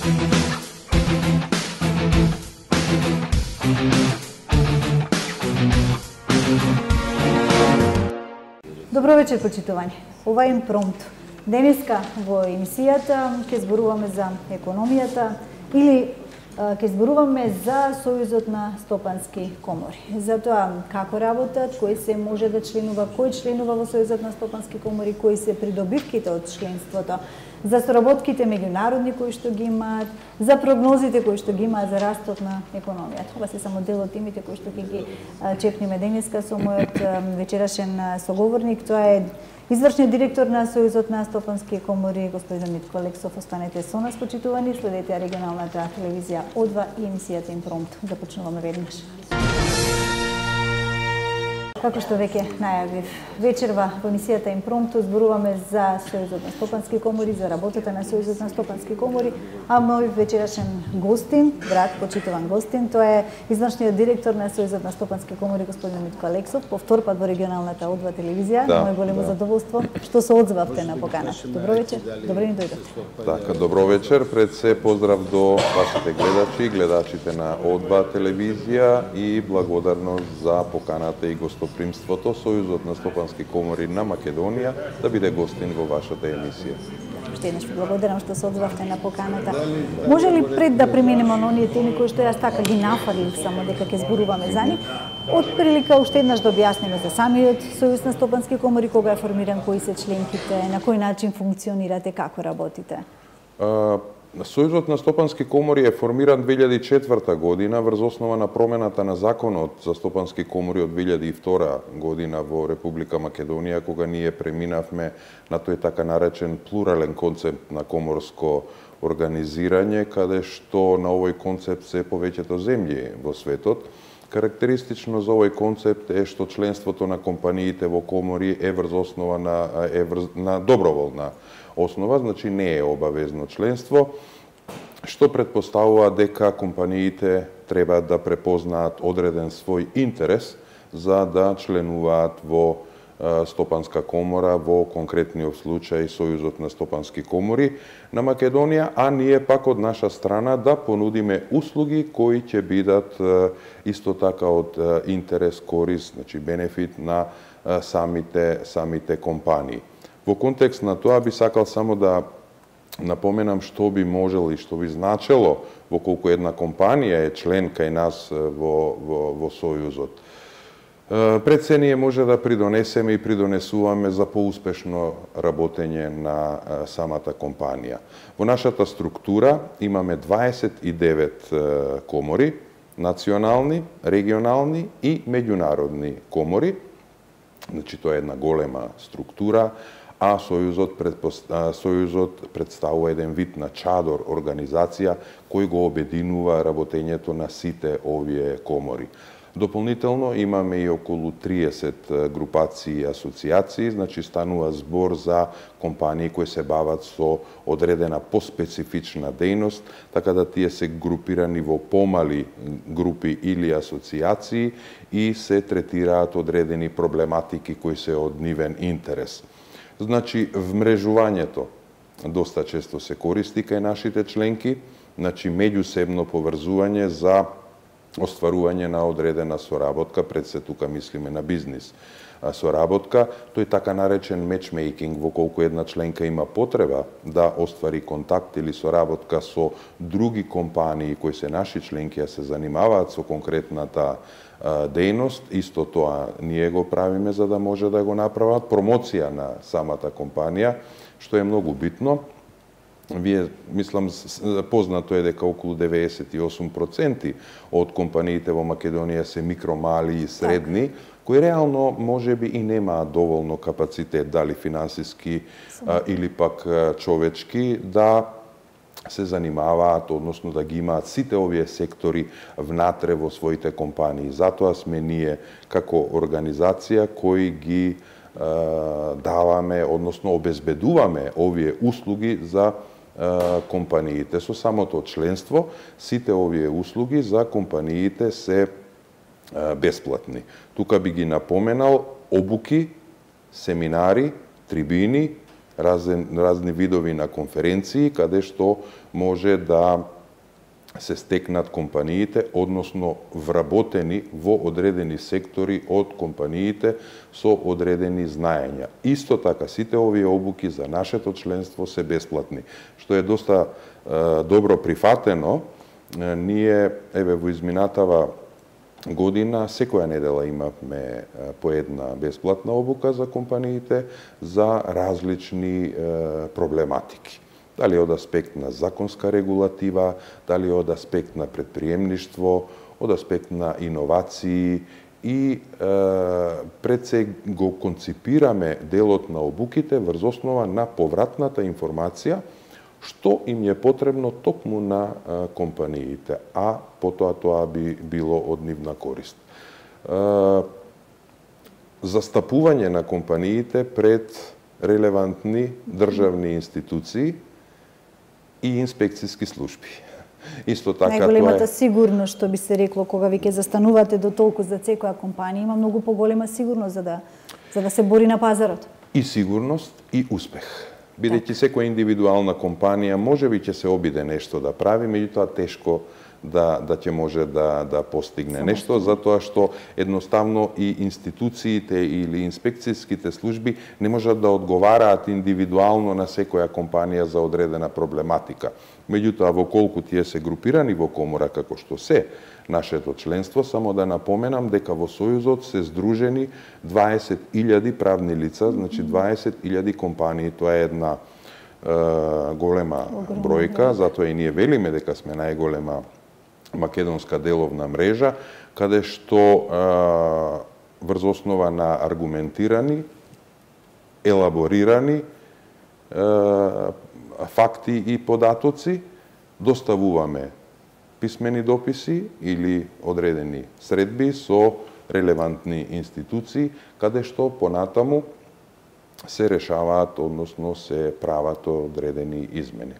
Добро вечер, почитувани. Ова е Импромт. Денеска во емисијата ќе зборуваме за економијата или ќе зборуваме за Сојузот на стопански комори. За тоа како работат, кој се може да членува, кој членува во Сојузот на стопански комори, кои се придобивките од членството, за соработките меѓународни кои што ги имаат, за прогнозите кои што ги имаат за растот на економијата. Ова се само дел од темите кои што ќе ги чепнеме денеска со мојот вечерашен соговорник. Тоа е извршниот директор на Сојузот на стопански комори, господин Митко Алексов. Останете со нас, почитувани, следете регионалната телевизија О2 и емисијата Импромт. Започнуваме веднаш. Како што веќе најавив, вечерва во емисијата Импромту зборуваме за Сојузот на стопански комори, за работата на Сојузот на стопански комори, а мој вечерашен гостин, драг, почитуван гостин, тоа е извршниот директор на Сојузот на стопански комори, господин Митко Алексов, по втор пат во регионалната О2 телевизија. Мој големо задоволство што се одзвавте на поканата. Добро вечер, добре ни дојдовте. Така, добро вечер, пред се поздрав до вашите гледачи, гледачите на О2 телевизија и благодарност за поканата и гостопримството Сојузот на стопански комори на Македонија да биде гостин во вашата емисија. Уште еднаш благодарам што се одзвавте на поканата. Може ли пред да преминеме на оние теми кои што јас така ги нафалив само дека ќе зборуваме за нив, од прилика уште еднаш да објасниме за самиот Сојуз на стопански комори, кога е формиран, кои се членките, на кој начин функционирате, како работите? Сојузот на стопански комори е формиран 2004 година врз основа на промената на законот за стопански комори од 2002 година во Република Македонија, кога ние преминавме на тој така наречен плурален концепт на коморско организирање, каде што на овој концепт се повеќето земји во светот. Карактеристично за овој концепт е што членството на компаниите во комори е врз основа на доброволна основа, значи не е обавезно членство, што предпоставува дека компаниите треба да препознаат одреден свој интерес за да членуваат во стопанска комора, во конкретниот случај Сојузот на стопански комори на Македонија, а ние пак од наша страна да понудиме услуги кои ќе бидат исто така од интерес, корист, значи бенефит на самите компании. Во контекст на тоа би сакал само да напоменам што би можело и што би значело во колку една компанија е член кај нас во Сојузот. Пред се ние може да придонесеме и придонесуваме за поуспешно работење на самата компанија. Во нашата структура имаме 29 комори, национални, регионални и меѓународни комори. Значи тоа е една голема структура, а Сојузот представува еден вид на чадор организација кој го обединува работењето на сите овие комори. Дополнително имаме и околу 30 групации и асоциации, значи станува збор за компании кои се бават со одредена поспецифична дејност, така да тие се групирани во помали групи или асоциации и се третираат одредени проблематики кои се од нивен интерес. Значи, вмрежувањето доста често се користи кај нашите членки, значи меѓусебно поврзување за остварување на одредена соработка, пред се тука мислиме на бизнис соработка, тој така наречен матчмейкинг, во колку една членка има потреба да оствари контакт или соработка со други компании кои се наши членки, а се занимаваат со конкретната дејност, исто тоа ние го правиме за да може да го направат промоција на самата компанија, што е многу битно. Вие, мислам, познато е дека околу 98% од компаниите во Македонија се микро, мали и средни, кои реално можеби и немаат доволно капацитет, дали финансиски или пак човечки, да се занимаваат, односно да ги имаат сите овие сектори внатре во своите компании. Затоа сме ние како организација кои ги даваме, односно обезбедуваме овие услуги за компаниите. Со самото членство, сите овие услуги за компаниите се бесплатни. Тука би ги напоменал обуки, семинари, трибини, разни видови на конференции, каде што може да се стекнат компаниите, односно вработени во одредени сектори од компаниите со одредени знаења. Исто така, сите овие обуки за нашето членство се бесплатни, што е доста добро прифатено. Ние, во изминатава година, секоја недела имавме по една бесплатна обука за компаниите за различни проблематики. Дали од аспект на законска регулатива, дали од аспект на предприемништво, од аспект на иновации и пред се го конципираме делот на обуките врз основа на повратната информација што им е потребно токму на компаниите, а потоа тоа би било од нивна корист. Застапување на компаниите пред релевантни државни институции и инспекцијски служби. Исто така најголемата сигурност, што би се рекло, кога ви ќе застанувате до толку за секоја компанија, има многу поголема сигурност за да се бори на пазарот. И сигурност и успех. Бидејќи секоја индивидуална компанија можеби ќе се обиде нешто да прави, меѓутоа тешко да ќе може да постигне нешто, затоа што едноставно и институциите или инспекцијските служби не можат да одговараат индивидуално на секоја компанија за одредена проблематика. Меѓутоа, во колку тие се групирани во комора како што се нашето членство, само да напоменам дека во Сојузот се здружени 20.000 правни лица, значи 20.000 компании. Тоа е една голема бројка, затоа и ние велиме дека сме најголема македонска деловна мрежа, каде што врз основа на аргументирани, елаборирани факти и податоци доставуваме писмени дописи или одредени средби со релевантни институции, каде што понатаму се решаваат, односно се прават одредени измени.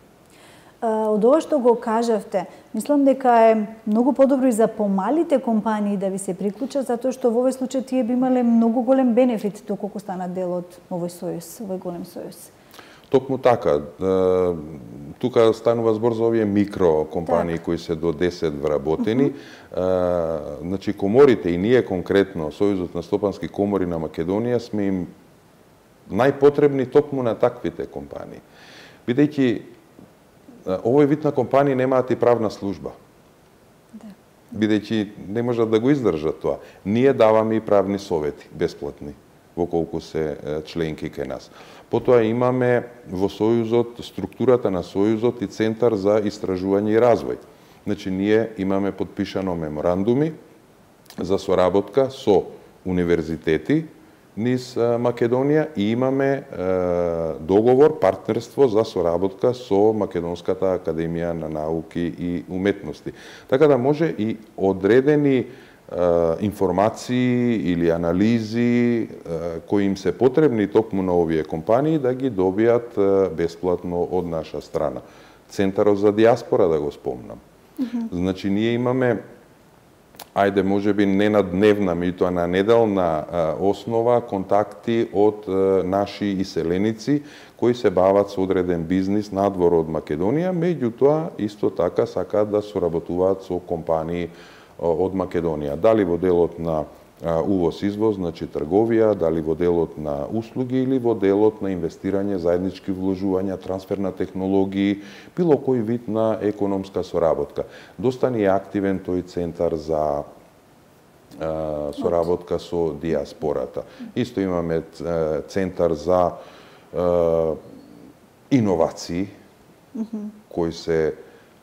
Од ова што го кажавте, мислам дека е многу подобро и за помалите компании да ви се приклучат, затоа што во овој случај тие би имале многу голем бенефит доколку станат дел од овој сојуз, овој голем сојуз. Токму така. Тука станува збор за овие микро компании кои се до 10 вработени. Значи, коморите и ние конкретно, Сојузот на стопански комори на Македонија, сме им најпотребни токму на таквите компании. Бидејќи овој вид на компании немаат и правна служба. Бидејќи не можат да го издржат тоа. Ние даваме и правни совети, бесплатни, во колку се членки кај нас. Потоа имаме во Сојузот, структурата на Сојузот и Центар за истражување и развој. Значи, ние имаме подпишано меморандуми за соработка со универзитети низ Македонија и имаме договор, партнерство за соработка со Македонската академија на науки и уметности. Така да може и одредени информации или анализи кои им се потребни токму на овие компании да ги добијат бесплатно од наша страна. Центарот за диаспора да го спомнам. Значи ние имаме, ајде можеби не на дневна, меѓутоа на неделна основа контакти од наши иселеници кои се бават со одреден бизнис надвор од Македонија, меѓутоа исто така сакаат да соработуваат со компании од Македонија. Дали во делот на увоз-извоз, значи трговија, дали во делот на услуги или во делот на инвестирање, заеднички вложувања, трансфер на технологии, било кој вид на економска соработка. Доста ни е активен тој центар за соработка со диаспората. Исто имаме центар за иновации, кои се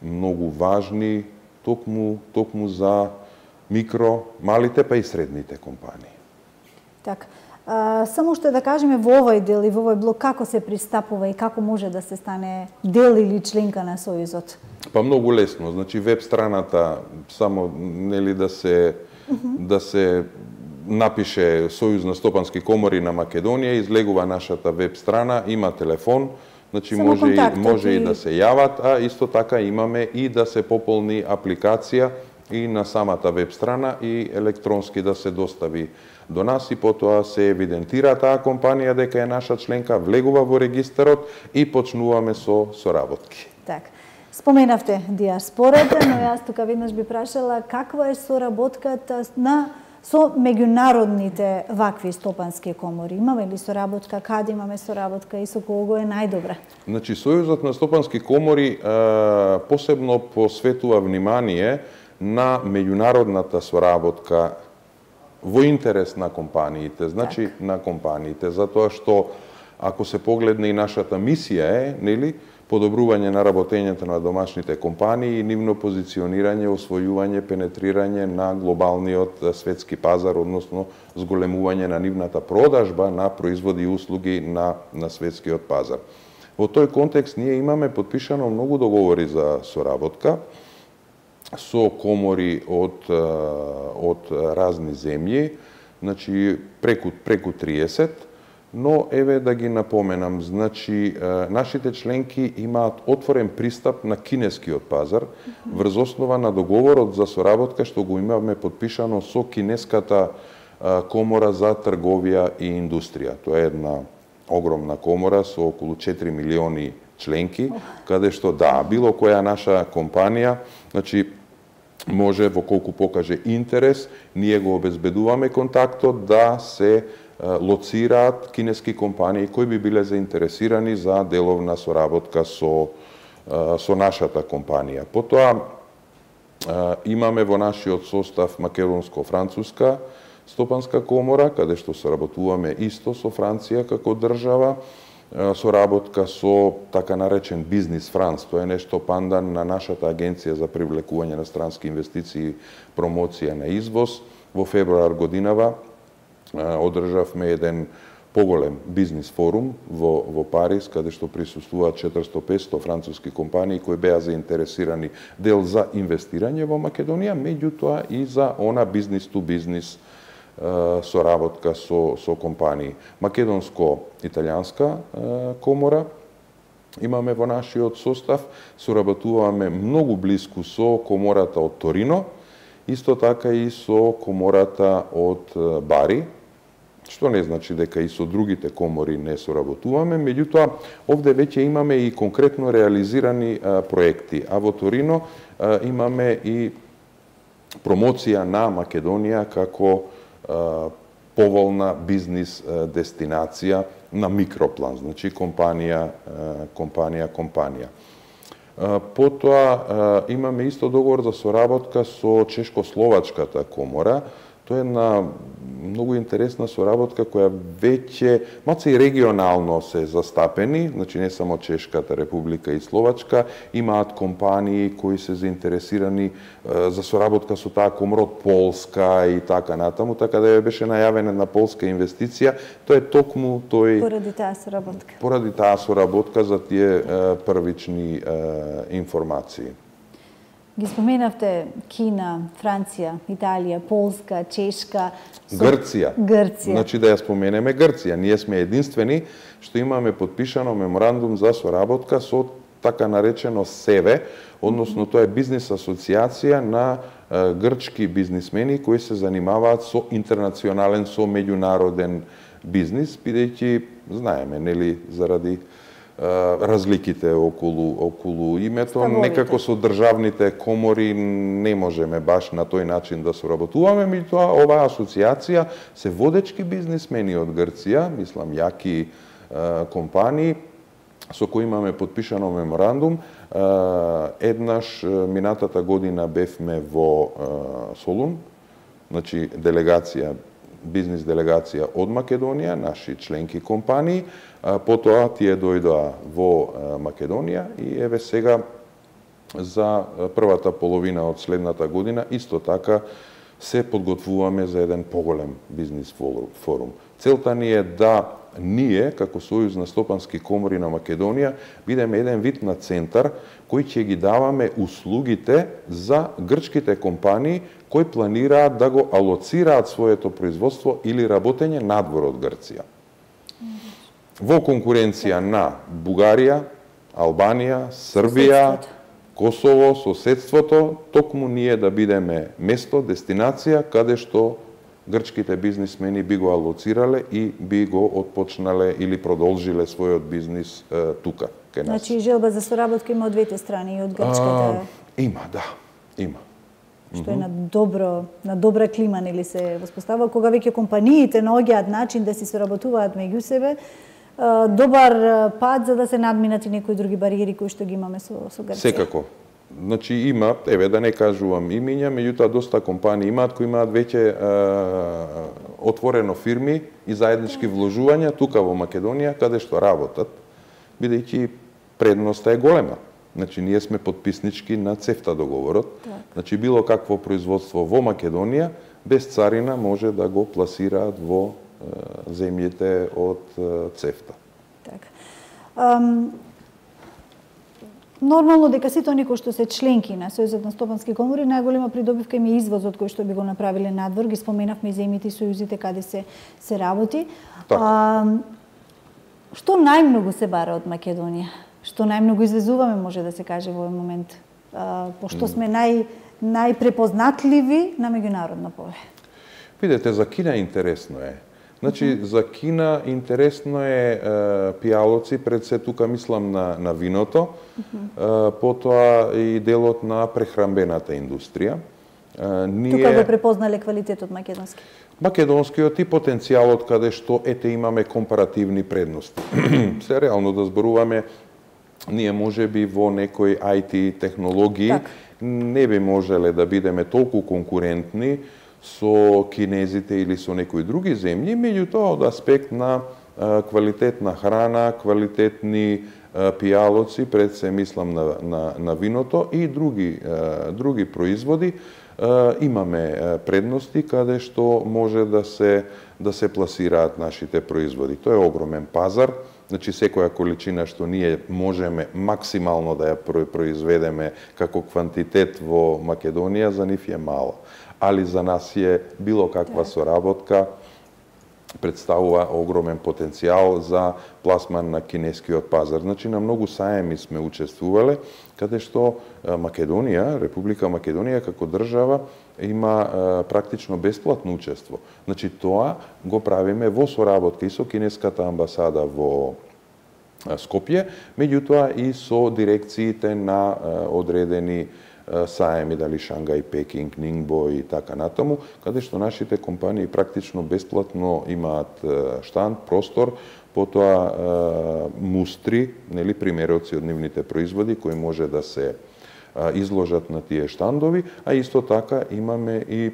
многу важни токму за микро, малите па и средните компании. Така. Само што да кажеме во овој дел и во овој блок како се пристапува и како може да се стане дел или членка на Сојузот? Па многу лесно, значи веб страната само нели да се напише Сојуз на стопански комори на Македонија, излегува нашата веб страна, има телефон, значи може и да се јават, а исто така имаме и да се пополни апликација и на самата веб страна и електронски да се достави до нас и потоа се евидентира таа компанија дека е наша членка, влегува во регистарот и почнуваме со соработки. Так. Споменавте диаспората, но јас тука веднаш би прашала каква е соработката со меѓународните вакви стопански комори. Имаме ли соработка, каде имаме соработка и со кого е најдобра? Значи, Сојузот на стопански комори посебно посветува внимание на меѓународната соработка во интерес на компаниите, значи на компаниите, затоа што ако се погледне и нашата мисија е, нели, подобрување на работењето на домашните компании и нивно позиционирање, освојување, пенетрирање на глобалниот светски пазар, односно зголемување на нивната продажба на производи и услуги на светскиот пазар. Во тој контекст ние имаме подпишано многу договори за соработка со комори од разни земји, значи преку 30, но еве да ги напоменам, значи нашите членки имаат отворен пристап на кинескиот пазар врз основа на договорот за соработка што го имаме подпишано со кинеската комора за трговија и индустрија. Тоа е една огромна комора со околу 4 милиони членки, каде што било која наша компанија, значи може во колку покаже интерес, ние го обезбедуваме контактот да се лоцираат кинески компании кои би биле заинтересирани за деловна соработка со нашата компанија. Потоа имаме во нашиот состав македонско-француска стопанска комора, каде што соработуваме исто со Франција како држава, соработка со така наречен Бизнис Франц, тоа е нешто пандан на нашата агенција за привлекување на странски инвестиции, промоција на извоз. Во февруар годинава одржавме еден поголем бизнис форум во Париз, каде што присуствуваат 400-500 француски компании кои беа заинтересирани дел за инвестирање во Македонија, меѓутоа и за она бизнис ту бизнис соработка со компании. Македонско-италијанска комора имаме во нашиот состав, соработуваме многу блиску со комората од Торино, исто така и со комората од Бари, што не значи дека и со другите комори не соработуваме, меѓутоа овде веќе имаме и конкретно реализирани проекти, а во Торино имаме и промоција на Македонија како поволна бизнис дестинација на микроплан, значи компанија. Потоа имаме исто договор за соработка со Чешко-словачката комора. Тоа е една многу интересна соработка која веќе малце и регионално се застапени, значи не само Чешката република и Словачка, имаат компании кои се заинтересирани за соработка со таа комора од Полска и така натаму, така да беше најавена на полска инвестиција, тоа е токму тој поради таа соработка за тие првични информации. Ги споменавте Кина, Франција, Италија, Полска, Чешка, Грција. Значи да ја споменеме Грција. Ние сме единствени што имаме подпишано меморандум за соработка со така наречено СЕВЕ, односно тоа е бизнис асоциација на грчки бизнисмени кои се занимаваат со интернационален, со меѓународен бизнис, бидејќи знаеме, нели, заради разликите околу името, некако со државните комори не можеме баш на тој начин да соработуваме, меѓутоа оваа асоциација се водечки бизнисмени од Грција, мислам јаки компании со кои имаме подпишано меморандум. Еднаш минатата година бевме во Солун, значи делегација, бизнис делегација од Македонија, наши членки компании, потоа тие дојдоа во Македонија и еве сега за првата половина од следната година исто така се подготвуваме за еден поголем бизнис форум. Целта ни е да ние, како Сојуз на стопански комори на Македонија, бидеме еден вид на центар кој ќе ги даваме услугите за грчките компании кои планираат да го алоцираат своето производство или работење надвор од Грција. Во конкуренција на Бугарија, Албанија, Србија, Косово, соседството, токму ние да бидеме место, дестинација, каде што грчките бизнисмени би го алоцирале и би го отпочнале или продолжиле својот бизнис тука, кај нас. Значи, желба за соработка има од двете страни, и од грчката? Има, да, има. Што е на добра клима, нели се воспоставува, кога веќе компаниите наоѓаат начин да си соработуваат меѓу себе, добар пат за да се надминат и некои други бариери кои што ги имаме со Грција. Секако. Значи има, да не кажувам имиња, меѓутоа доста компании имаат кои имаат веќе отворено фирми и заеднички вложувања тука во Македонија каде што работат, бидејќи предноста е голема. Значи, ние сме подписнички на ЦЕФТА договорот. Так. Значи, било какво производство во Македонија, без царина може да го пласираат во земјите од ЦЕФТА. Так. Нормално дека сите оние кои што се членки на Сојузот на стопански комори, најголема придобивка им е извозот кој што би го направиле надвор, ги споменавме и земјите и сојузите каде се работи. Што најмногу се бара од Македонија? Што најмногу извезуваме, може да се каже во овој момент, пошто сме најпрепознатливи на меѓународно поле? Видете, за Кина интересно е. Значи, за Кина интересно е пијалоци, пред се тука мислам на виното, потоа и делот на прехрамбената индустрија. Тука го препознале квалитетот македонски? Македонскиот и потенцијалот каде што имаме компаративни предности. Се реално да зборуваме, ние можеби во некои IT технологии не би можеле да бидеме толку конкурентни со кинезите или со некои други земји, меѓутоа од аспект на квалитетна храна, квалитетни пијалоци, пред се мислам на виното и други производи, имаме предности каде што може да се пласираат нашите производи. Тоа е огромен пазар. Значи, секоја количина што ние можеме максимално да ја произведеме како квантитет во Македонија, за нив е мала. Али за нас е било каква соработка представува огромен потенцијал за пласман на кинескиот пазар. Значи, на многу саеми сме учествувале, каде што Македонија, Република Македонија како држава има практично бесплатно учество. Значи, тоа го правиме во соработка и со кинеската амбасада во Скопје, меѓутоа и со дирекциите на одредени саеми, дали Шангај, Пекинг, Нингбо и така натаму, каде што нашите компании практично бесплатно имаат штанд, простор, потоа мустри, нели, примероци од нивните производи кои може да се изложат на тие штандови, а исто така имаме и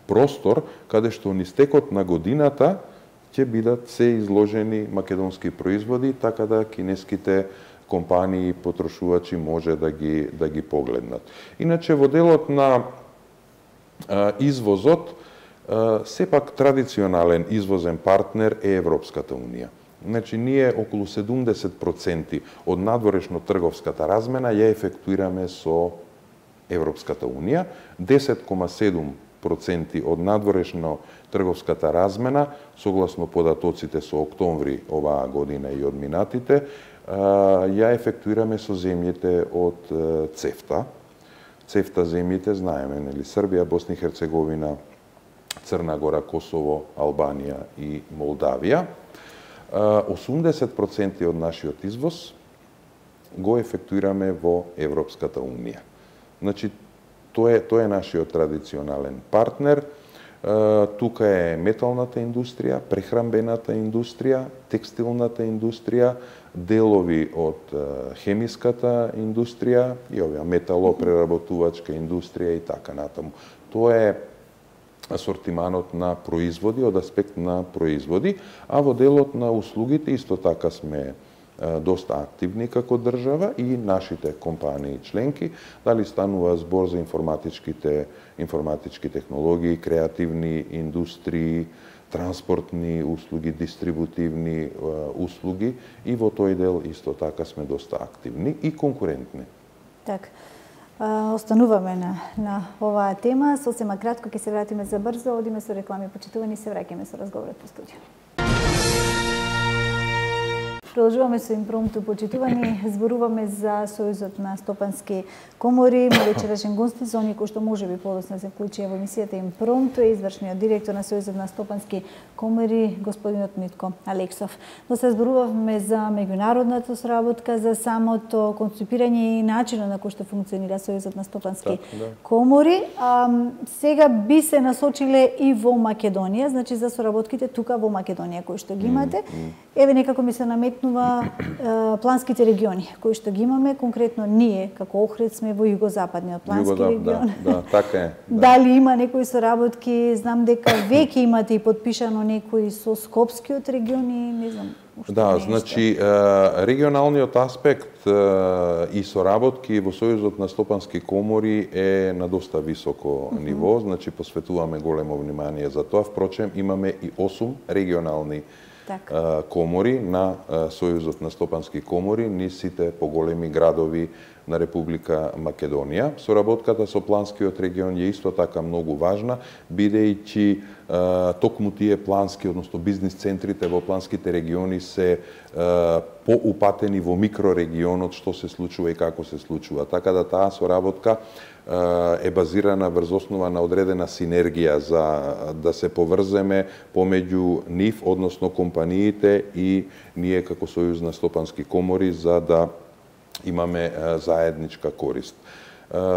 простор каде што низ текот на годината ќе бидат се изложени македонски производи, така да кинеските компании и потрошувачи може да ги погледнат. Иначе во делот на извозот, сепак традиционален извозен партнер е Европската Унија. Значи, ние околу 70% од надворешно трговската размена ја ефектуираме со Европската Унија, 10,7% од надворешно трговската размена, согласно податоците со октомври оваа година и од минатите, ја ефектуираме со земјите од ЦЕФТА. ЦЕФТА земјите, знаеме, нели, Србија, Босна и Херцеговина, Црна Гора, Косово, Албанија и Молдавија. 80% од нашиот извоз го ефектуираме во Европската Унија. Значи, тоа е нашиот традиционален партнер. Тука е металната индустрија, прехрамбената индустрија, текстилната индустрија, делови од хемиската индустрија и оваа металопреработувачка индустрија и така натаму. Тоа е асортиманот на производи, од аспект на производи, а во делот на услугите исто така сме доста активни како држава и нашите компании членки, дали станува збор за информатички технологии, креативни индустрии, транспортни услуги, дистрибутивни услуги, и во тој дел исто така сме доста активни и конкурентни. Так. Остануваме на оваа тема. Сосема кратко ќе се вратиме за брзо, одиме со реклами, почитувани, се враќаме со разговорот по студио. Продолжуваме со импромту, почитувани. Зборуваме за Сојузот на стопански комори. Мој вечерашен гост за оние кои што можеби подоцна се вклучија во емисијата импромту е извршниот директор на Сојузот на стопански комори, господинот Митко Алексов. Но се зборувавме за меѓународната соработка, за самото концепирање и начинот на кој што функционира Сојузот на стопански комори. Сега би се насочиле и во Македонија, значи за соработките тука во Македонија кои што ги имате. Еве некако ми се наметнува планските региони кои што ги имаме, конкретно ние како Охрид сме во југозападниот плански регион. Да, така е. Да. Дали има некои соработки? Знам дека веќе имате и подпишано некои со Скопскиот регион и не знам. Да, значи регионалниот аспект и соработки во Сојузот на стопански комори е на доста високо ниво, значи посветуваме големо внимание за тоа. Впрочем, имаме и 8 регионални комори на Сојузот на стопански комори, низ сите поголеми градови на Република Македонија. Соработката со планскиот регион е исто така многу важна, бидејќи токму тие плански, односно бизнис центрите во планските региони се поупатени во микрорегионот што се случува и како се случува. Така да таа соработка е базирана врз основа на одредена синергија за да се поврземе помеѓу нив, односно компаниите и ние како Сојуз на стопански комори за да имаме заедничка корист.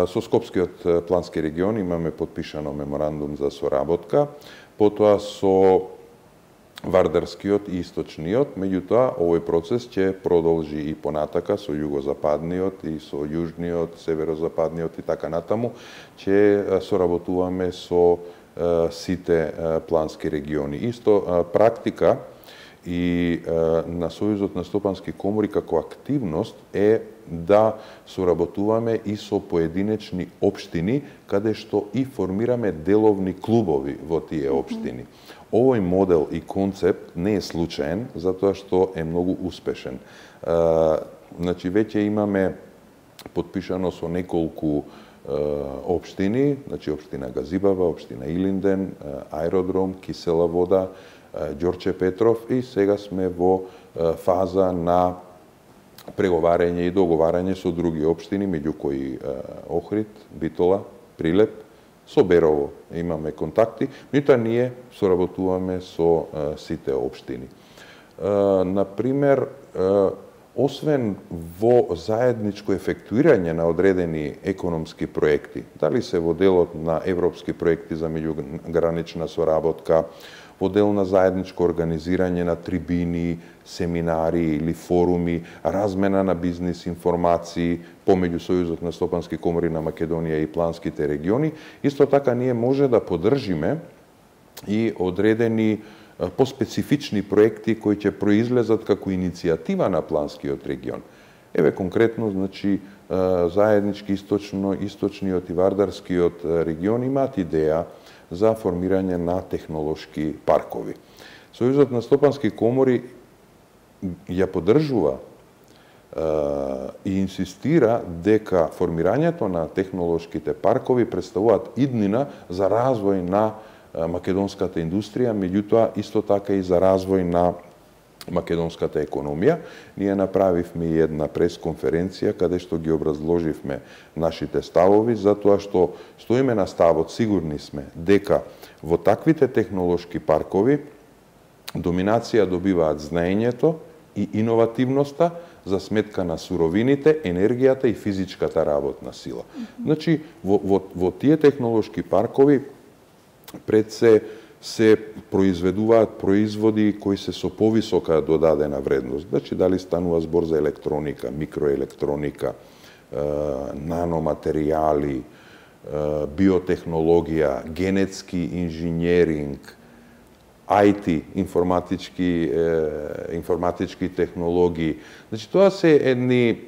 Со Скопскиот плански регион имаме подпишано меморандум за соработка, потоа со Вардарскиот и Источниот, меѓутоа овој процес ќе продолжи и понатака со југозападниот и со јужниот, северозападниот и така натаму, ќе соработуваме со сите плански региони. Исто практика и на Сојузот на стопански комори како активност е да соработуваме и со поединечни општини, каде што и формираме деловни клубови во тие општини. Овој модел и концепт не е случаен, затоа што е многу успешен. Значи, веќе имаме подпишано со неколку општини, значи општина Газибава, општина Илинден, Аеродром, Кисела вода, Ѓорче Петров и сега сме во фаза на преговарање и договарање со други општини, меѓу кои Охрид, Битола, Прилеп, со Берово имаме контакти, меѓутоа ние соработуваме со сите општини. Например, освен во заедничко ефектуирање на одредени економски проекти, дали се во делот на европски проекти за меѓугранична соработка, во дел на заедничко организирање на трибини, семинари или форуми, размена на бизнис информации помеѓу Сојузот на стопански комори на Македонија и планските региони, исто така ние може да поддржиме и одредени поспецифични проекти кои ќе произлезат како иницијатива на планскиот регион. Еве конкретно, значи, заеднички источниот и вардарскиот регион имаат идеја за формирање на технолошки паркови. Сојузот на стопански комори ја поддржува и инсистира дека формирањето на технолошките паркови представуваат иднина за развој на македонската индустрија, меѓутоа исто така и за развој на македонската економија. Ние направивме и една пресконференција каде што ги образложивме нашите ставови, затоа што стоиме на ставот, сигурни сме дека во таквите технолошки паркови доминација добиваат знаењето и иновативноста за сметка на суровините, енергијата и физичката работна сила. Значи, во тие технолошки паркови пред се произведуваат производи кои се со повисока додадена вредност. Значи, дали станува збор за електроника, микроелектроника, наноматеријали, биотехнологија, генетски инженеринг, IT, информатички технологии. Значи, тоа се едни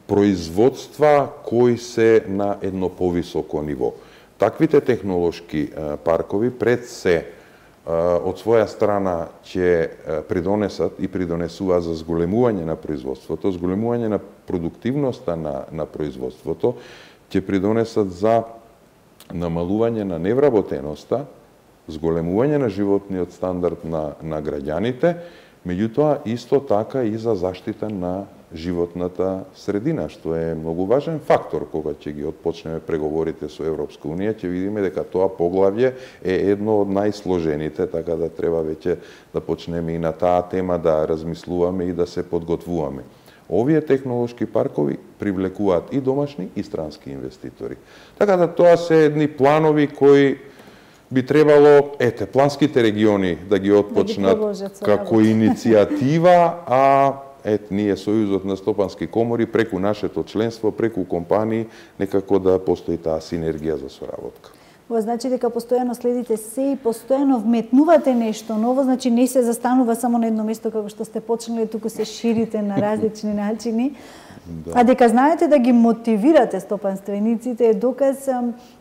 производства кои се на едно повисоко ниво. Таквите технолошки паркови пред се од своја страна ќе придонесат и придонесуваат за зголемување на производството, зголемување на продуктивноста на производството, ќе придонесат за намалување на невработеноста зголемување на животниот стандард на граѓаните, меѓутоа исто така и за заштита на животната средина, што е многу важен фактор кога ќе ги отпочнеме преговорите со Европска унија, ќе видиме дека тоа поглавје е едно од најсложените, така да треба веќе да почнеме и на таа тема да размислуваме и да се подготвуваме. Овие технолошки паркови привлекуваат и домашни и странски инвеститори. Така да тоа се едни планови кои би требало, планските региони да ги отпочнат како иницијатива, а ние Сојузот на стопански комори преку нашето членство, преку компании, некако да постои таа синергија за соработка. Ова значи дека постојано следите се и постојано вметнувате нешто ново, значи не се застанува само на едно место како што сте почнали, туку се ширите на различни начини. Да. А дека знаете да ги мотивирате стопанствениците е доказ.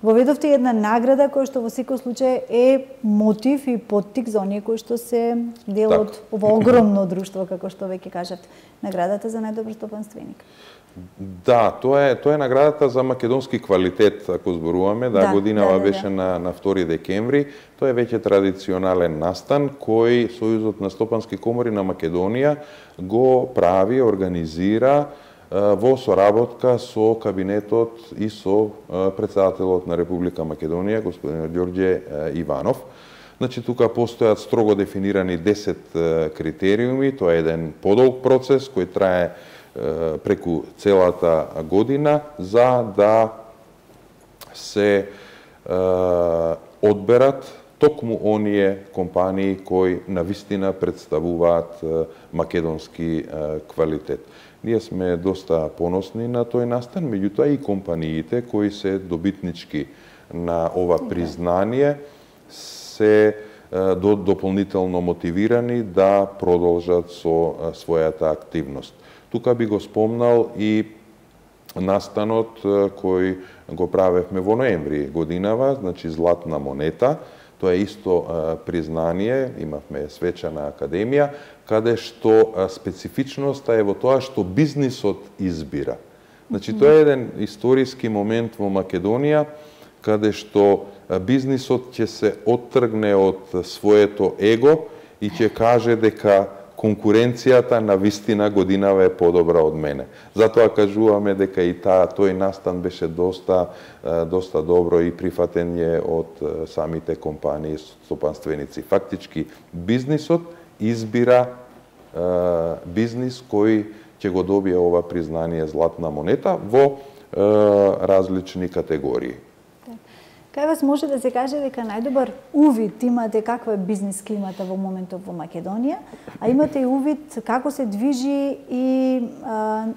Воведовте една награда која што во секој случај е мотив и поттик за оние кои што се дел од ова огромно друштво, како што веќе кажавте. Наградата за најдобар стопанственик. Да, тоа е наградата за македонски квалитет, ако зборуваме, годинава беше на 2 декември. Тоа е веќе традиционален настан кој Сојузот на стопански комори на Македонија го прави, организира во соработка со кабинетот и со претседателот на Република Македонија, господин Ѓорѓе Иванов. Значи, тука постојат строго дефинирани 10 критериуми, тоа е еден подолг процес кој трае преку целата година за да се одберат токму оние компании кои навистина представуваат македонски квалитет. Ние сме доста поносни на тој настан, меѓутоа и компаниите кои се добитнички на ова признание се дополнително мотивирани да продолжат со својата активност. Тука би го спомнал и настанот кој го правевме во ноември годинава, значи Златна монета. Тоа е исто признание, имавме свечана академија, каде што специфичноста е во тоа што бизнисот избира. Значи, тоа е еден историски момент во Македонија, каде што бизнисот ќе се оттргне од своето его и ќе каже дека конкуренцијата на вистина годинава е подобра од мене. Затоа кажуваме дека и тој настан беше доста добро и прифатен е од самите компании стопанственици. Фактички бизнисот избира бизнис кој ќе го добие ова признание Златна монета во различни категории. Кај вас може да се каже дека најдобар увид имате каква е бизнис климата во моментот во Македонија, а имате и увид како се движи и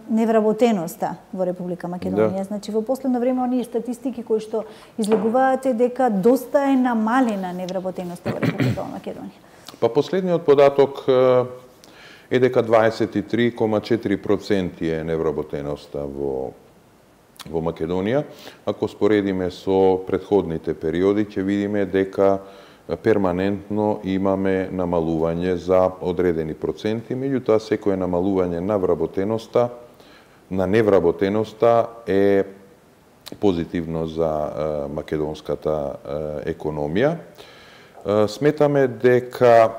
невработеноста во Република Македонија. Да. Значи, во последно време оние статистики кои што излегуваат дека доста е намалена невработеноста во Република Македонија. Па последниот податок е дека 23,4% е невработеноста во Македонија. Ако споредиме со претходните периоди, ќе видиме дека перманентно имаме намалување за одредени проценти, меѓутоа секое намалување на вработеноста, на невработеноста е позитивно за македонската економија. Сметаме дека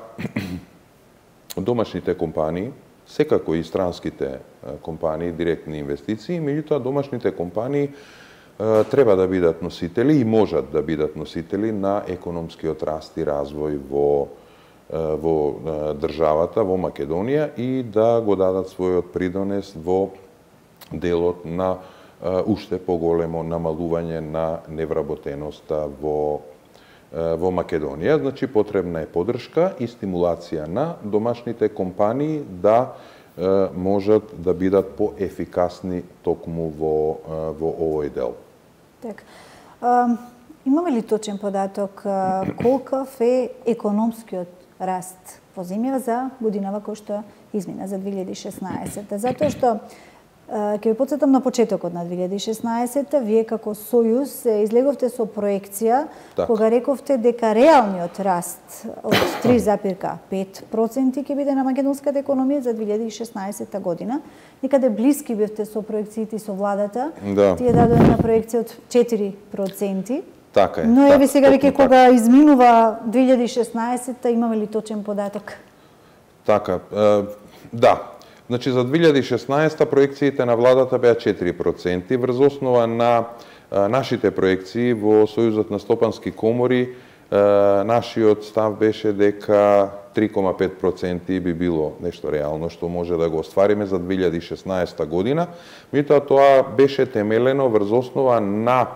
домашните компании, секако и странските компании, директни инвестиции, меѓутоа домашните компании треба да бидат носители и можат да бидат носители на економскиот раст и развој во државата, во Македонија и да го дадат својот придонес во делот на уште поголемо намалување на невработеноста во Македонија. Значи, потребна е поддршка и стимулација на домашните компании да можат да бидат поефикасни токму во овој дел. Так. Имаме ли точен податок колкав е економскиот раст во земјава за годинава која што измина за 2016? Затоа што ќе ви потсетам на почетокот на 2016, вие како Сојуз излеговте со проекција кога рековте дека реалниот раст од 3,5% ќе биде на македонската економија за 2016 година. Некаде блиски бевте со проекциите со владата. Да. Тие дадоа една проекција од 4%. Така е. Но еве сега веќе кога изминува 2016-та, имаме ли точен податок? Така, да. Значи за 2016-та проекциите на владата беа 4%, врз основа на нашите проекции во Сојузот на стопански комори, нашиот став беше дека 3,5% би било нешто реално што може да го оствариме за 2016 година. Меѓутоа тоа беше темелено врз основа на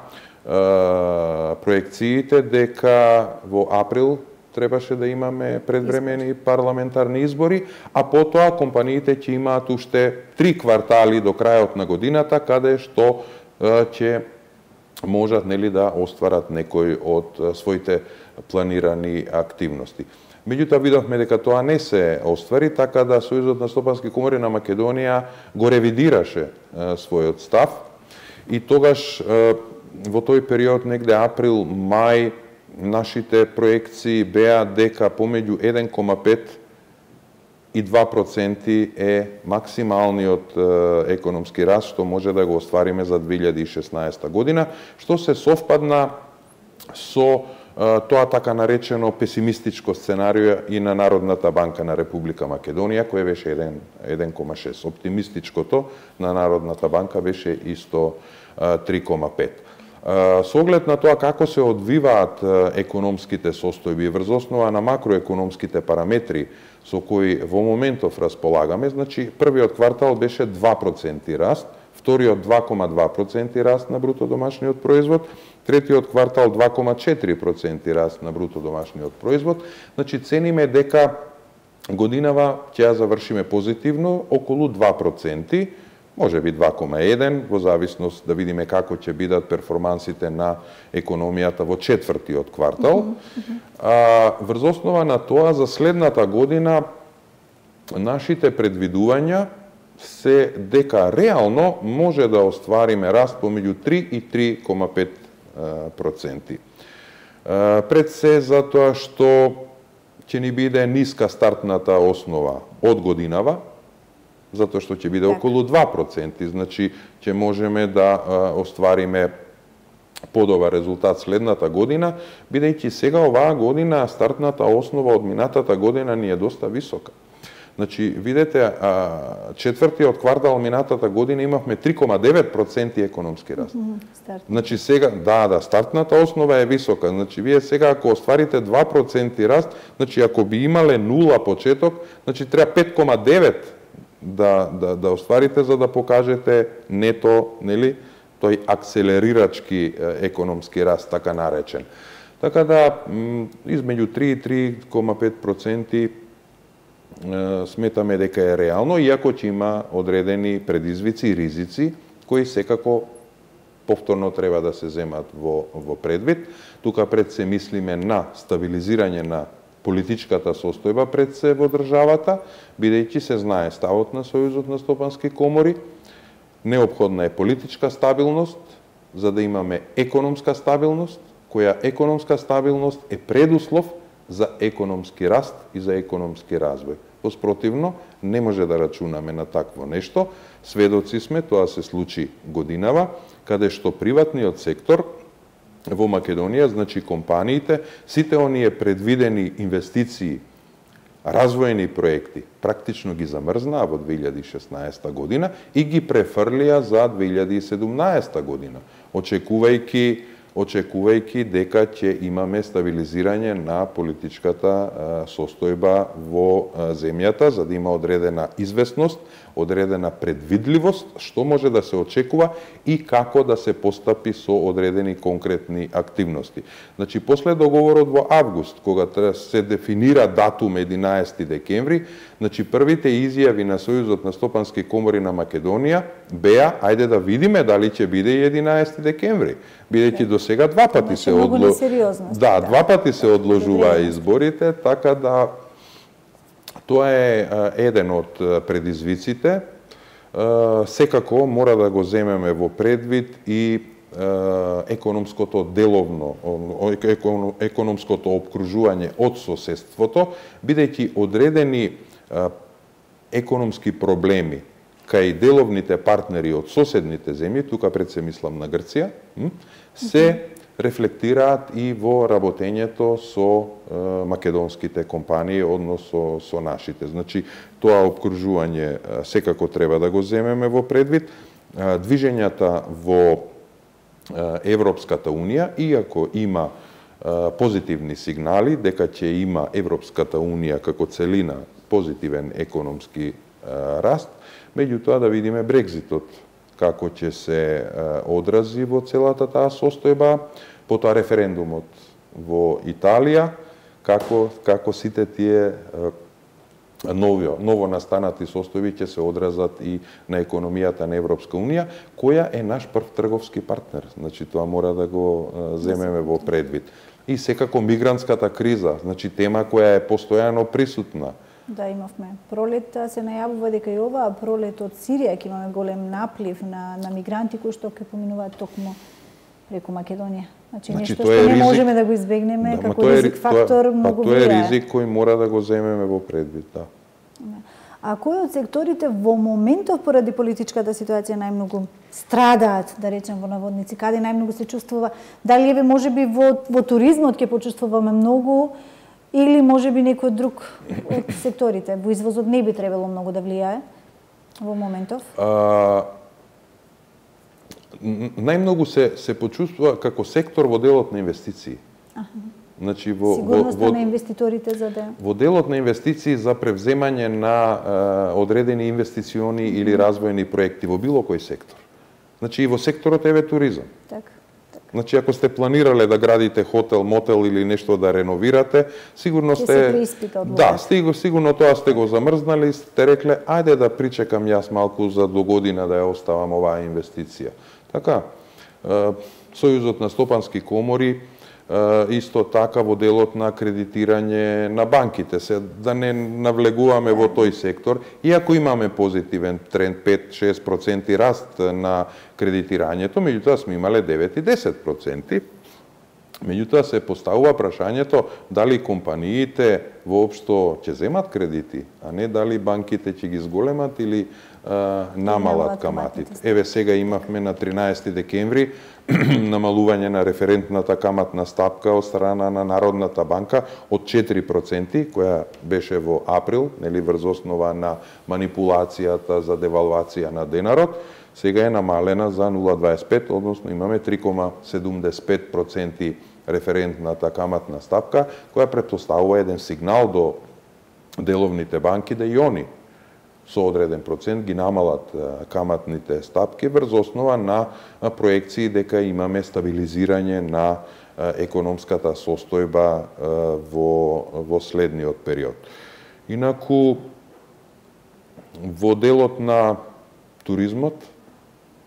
проекциите дека во април требаше да имаме предвремени парламентарни избори, а потоа компаниите ќе имаат уште 3 квартали до крајот на годината каде што ќе можат да остварат некои од своите планирани активности. Меѓутоа видовме дека тоа не се оствари, така да Сојузот на стопански комори на Македонија го ревидираше својот став и тогаш во тој период негде април, мај, нашите проекции беа дека помеѓу 1,5 и 2% е максималниот економски раст што може да го оствариме за 2016 година, што се совпадна со тоа така наречено песимистичко сценарио и на Народната банка на Република Македонија, кој беше 1,6. Оптимистичкото на Народната банка беше исто 3,5. Со оглед на тоа како се одвиваат економските состојби врз основа на макроекономските параметри со кои во моментов располагаме, значи првиот квартал беше 2% раст, вториот 2,2% раст на бруто домашниот производ, третиот квартал 2,4% раст на бруто домашниот производ. Значи цениме дека годинава ќе ја завршиме позитивно околу 2%, може би 2,1, во зависност да видиме како ќе бидат перформансите на економијата во четвртиот квартал. Врз основа на тоа, за следната година нашите предвидувања се дека реално може да оствариме раст помеѓу 3 и 3,5%. Пред се затоа што ќе ни биде ниска стартната основа од годинава, затоа што ќе биде околу 2%, значи ќе можеме да оствариме подобар резултат следната година, бидејќи сега оваа година стартната основа од минатата година ни е доста висока. Значи, видете, четвртиот квартал минатата година имавме 3,9% економски раст. Значи сега, стартната основа е висока. Значи, вие сега ако остварите 2% раст, значи ако би имале 0 почеток, значи треба 5,9 да остварите за да покажете нето, нели, тој акселерирачки економски раст, така наречен. Така да, измеѓу 3 и 3,5% сметаме дека е реално, иако ќе има одредени предизвици и ризици, кои секако повторно треба да се земат во предвид. Тука пред се мислиме на стабилизирање на политичката состојба пред се во државата, бидејќи се знае ставот на Сојузот на стопански комори, неопходна е политичка стабилност, за да имаме економска стабилност, која економска стабилност е предуслов за економски раст и за економски развој. Воспротивно, не може да рачунаме на такво нешто. Сведоци сме, тоа се случи годинава, каде што приватниот сектор во Македонија, значи компаниите, сите оние предвидени инвестиции, развојни проекти, практично ги замрзнаа во 2016 година и ги префрлија за 2017 година, очекувајќи дека ќе имаме стабилизирање на политичката состојба во земјата, за да има одредена известност, одредена предвидливост, што може да се очекува и како да се постапи со одредени конкретни активности. Значи, после договорот во август, кога се дефинира датум 11 декември, значи првите изјави на Сојузот на стопански комори на Македонија беа, ајде да видиме дали ќе биде 11 декември, бидејќи до сега два пати се два пати се одложуваа изборите, така да тоа е еден од предизвиците. Секако мора да го земеме во предвид и економското деловно, економското опкружување од соседството, бидејќи одредени економски проблеми кај деловните партнери од соседните земји, тука пред се мислам на Грција, се рефлектираат и во работењето со македонските компании, односно со нашите. Значи, тоа обкружување секако треба да го земеме во предвид. Движењата во Европската Унија, иако има позитивни сигнали дека ќе има Европската Унија како целина позитивен економски раст, меѓутоа да видиме Брекзитот како ќе се одрази во целата таа состојба, потоа референдумот во Италија, како сите тие ново настанати состојби ќе се одразат и на економијата на Европска Унија, која е наш прв трговски партнер. Значи, тоа мора да го земеме во предвид. И секако мигрантската криза, значи тема која е постојано присутна. Да, имавме пролет, се најавува дека и оваа пролет од Сирија ќе имаме голем наплив на мигранти кои што ќе поминуваат токму преку Македонија. Значи нешто што не можеме да го избегнеме, како ризик фактор многу влијае. Тоа е ризик кој мора да го земеме во предвид, да. А кои од секторите во моментов поради политичката ситуација најмногу страдаат, да речем во наводници, каде најмногу се чувствува? Дали еве можеби во туризмот ќе почувствуваме многу или можеби некој друг од секторите? Во извозот не би требало многу да влијае во моментов? Најмногу се почувствува како сектор во делот на инвестиции. Значи сигурноста на инвеститорите за да во делот на инвестиции за превземање на одредени инвестициони или развојни проекти во било кој сектор. Значи и во секторот еве туризам. Така. Значи ако сте планирале да градите хотел, мотел или нешто да реновирате, сигурно сте сигурно тоа сте го замрзнали и сте рекле ајде да причекам јас малку за до година да ја оставам оваа инвестиција. Така, Сојузот на стопански комори исто така во делот на кредитирање на банките, се да не навлегуваме во тој сектор, иако имаме позитивен тренд 5-6% раст на кредитирањето, меѓутоа сме имале 9 и 10%. Меѓутоа се поставува прашањето дали компаниите воопшто ќе земат кредити, а не дали банките ќе ги зголемат или намалат каматите. Еве сега имавме на 13 декември намалување на референтната каматна стапка од страна на Народната банка од 4%, која беше во април, нели врз основа на манипулацијата за девалвација на денарот, сега е намалена за 0,25, односно имаме 3,75% референтната каматна стапка, која претпоставува еден сигнал до деловните банки да и они со одреден процент ги намалат каматните стапки врз основа на проекции дека имаме стабилизирање на економската состојба во следниот период. Инаку, во делот на туризмот,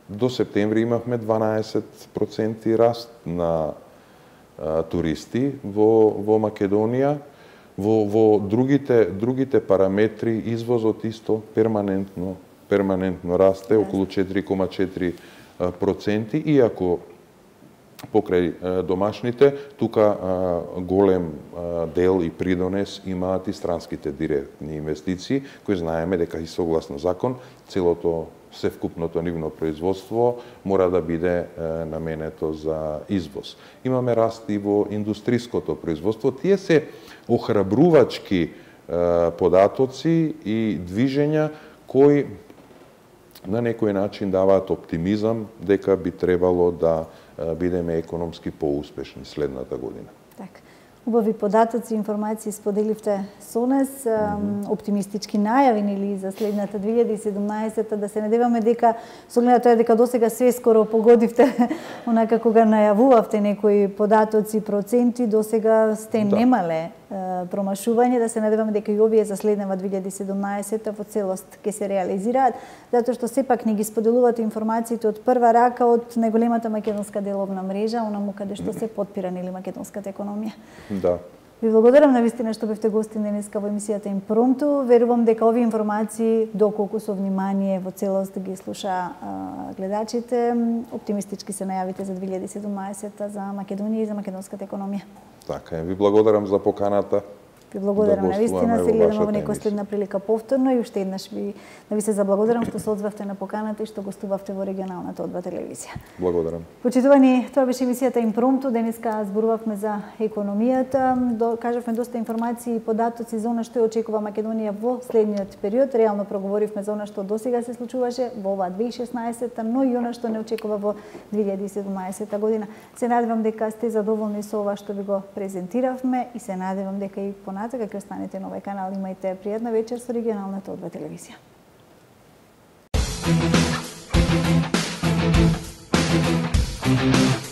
до септември имавме 12% раст на туристи во Македонија. Во другите параметри извозот исто перманентно расте, околу 4,4%, иако покрај домашните, тука голем дел и придонес имаат и странските директни инвестиции, кои знаеме дека и согласно закон, целото севкупното нивно производство мора да биде наменето за извоз. Имаме раст и во индустриското производство. Тие се охрабрувачки податоци и движења кои на некој начин даваат оптимизам дека би требало да бидеме економски поуспешни следната година. Така. Убави податоци и информации споделивте со нас, оптимистички најави или за следната 2017, да се надеваме дека со гледа тоа дека досега све скоро погодивте онака кога најавувавте некои податоци, проценти, досега сте немале промашување, да се надеваме дека и овие за следнава 2017 во целост ќе се реализираат, затоа што сепак не ги споделувате информациите од прва рака од најголемата македонска деловна мрежа, онаму каде што се подпира нели македонската економија. Да. Ви благодарам навистина што бевте гости денеска во емисијата Импромту. Верувам дека овие информации, доколку со внимание во целост ги слуша гледачите, оптимистички се најавите за 2017 за Македонија и за македонската економија. Така, ви благодарам за поканата. Ви благодарам на вистина, се гледаме во некоја следна прилика повторно и уште еднаш ви се заблагодарам што се одзвавте на поканата и што гостувавте во регионалната О2 телевизија. Благодарам. Почитувани, тоа беше емисијата Импромту. Денеска зборувавме за економијата, кажавме доста информации и податоци за она што ја очекува Македонија во следниот период. Реално проговоривме за она што досега се случуваше во оваа 2016, но и она што не очекува во 2017 година. Се надевам дека сте задоволни со ова што ви го презентиравме и се надевам дека и понатака ќе останете на овој канал. Имајте пријатна вечер со регионалната О2 телевизија. Thank you.